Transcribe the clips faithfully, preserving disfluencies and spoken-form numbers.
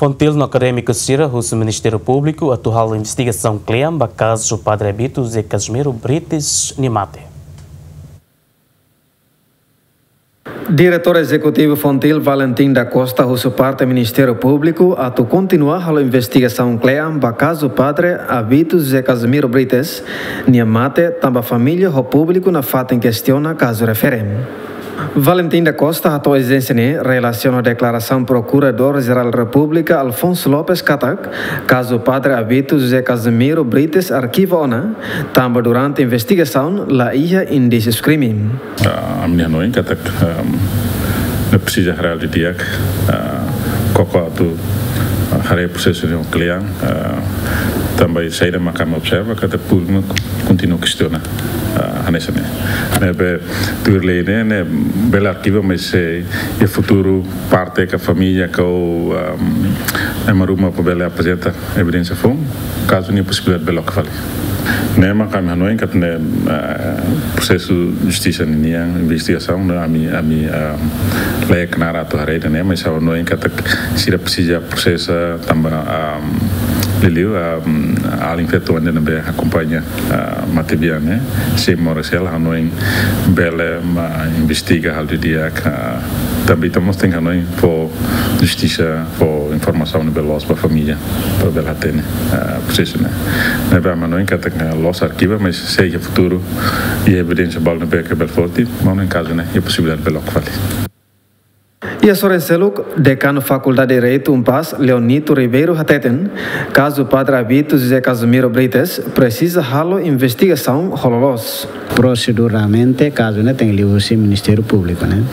Fontil no akadémiku sira husu Ministériu Públiku atu halo investigasaun kle'an ba kazu Padre Abito José Casimiro Brites nia mate. Diretór Ezekutivu Fontil, Valentim da Costa, husu parte Ministériu Públiku atu kontinua halo investigasaun kle'an ba kazu Padre Abito José Casimiro Brites nia mate, tanba família ho públiku nafatin kestiona kazu refere. Valentim da Costa hato'o ezijénsia ne'e relasiona ho deklarasaun Prokuradór Jerál Repúblika Alfonso Lopes katak kazu Padre Abito José Casimiro Brites arkiva ona, tanba durante investigasaun la iha indísiu krime. Ah, ami hanoin katak, ehm, ne'e presiza haree didi'ak, ah, koko atu, ah, haree prosesu ne'e kle'an, ah, tanba saida maka ami observa katak públiku kontinua kestiona, ah, hanesan ne'e. Ne'ebé tuir lei ne'e, ne'e bele arkiva, mas se iha futuru parte ka família ka, ehm, ema ruma bele aprezenta evidénsia foun, kazu ne'e posibilidade bele loke fali. Ne'e mak ami hanoin katak ne'e, ah, prosesu justisa ninian, investigasaun, ne'e ami, ami, ah, la iha knaar atu haree ida-ne'e, mas ami hanoin katak sira presiza prosesa tanba, ah, liuliu, ah, alin feto ande ne'ebé akompaña, ah, matebian ne'e, sei moras hela, hanoin bele mak investiga halo didi'ak, ah, tanba ita mós tenke hanoin fó justisa, fó informasaun ne'ebé loos ba família, para bele hatene, ah, prosesu ne'e. Ne'ebé ami hanoin katak loos arkiva, mas se iha futuru iha evidénsia balu ne'ebé ke bele forte, maun, iha kazu ne'e iha posibilidade bele loke fali. Iha sorin seluk, Dekanu Fakuldade Direitu UNPAZ, Leonito Ribeiro hateten, kazu Padre Abito José Casimiro Brites presiza halo investigasaun ho loloos. Proseduralmente, kazu ne'e tenke liuhusi Ministériu Públiku, ne'e.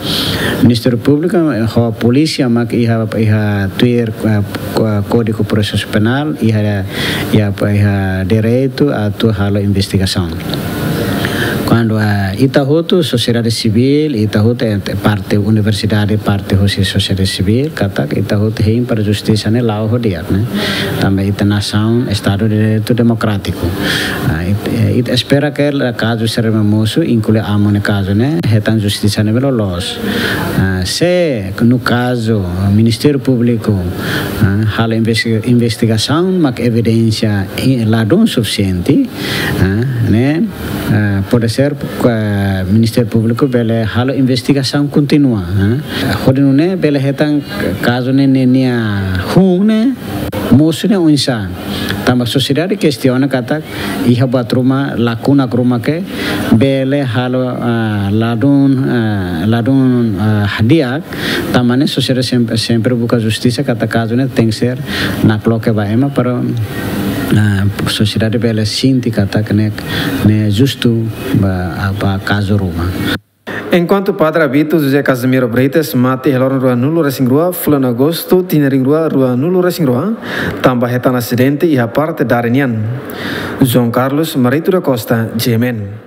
Ministériu Públiku, eh, ho polísia mak iha, iha tuir, eh, ko-, Kódigu Prosesu Penál, iha, iha, iha direitu atu halo investigasaun. Kuandu, eh, ita hotu, sosiedade sivíl, ita hotu, eh, parte universidade, parte husi sosiedade sivíl, katak ita hotu hein para justisa ne'e la'o ho di'ak, ne'e. Tanba ita nasaun, Estadu de Direitu Demokrátiku. Ah, it-, eh, ita espera katak kazu sira ne'ebé mosu, inklui amu nia kazu ne'e, hetan justisa ne'ebé loloos. Ah, se, no kazu, Ministériu Públiku, ah, halo investi-, investigasaun, mak evidénsia i-, ladún sufisiente, ah, ne'e, ah, pode ser, ah, Ministériu Públiku bele halo investigasaun kontínua, ah. Hodi nune'e bele hetan kazu ne'e, ne'e nia hun ne'e, mosu ne'e oinsá. Tanba sosiedade kestiona katak iha buat ruma, lakuna ruma ke bele halo, ah, ladún, ah, ladún, ah, di'ak, tanba ne'e sosiedade sempre, sempre buka justisa katak kazu ne'e tenke ser nakloke ba ema para, ah, sosiedade bele sente katak ne'e, ne'e justu ba, ah, ba kazu ruma. Enkuantu Padre Abito José Casimiro Brites mate iha loron ruanulu-resin-rua fulan Agostu tinan rihun rua ruanulu-resin-rua, tanba hetan asidente iha parte dada nian. João Carlos Marito da Costa, G M N.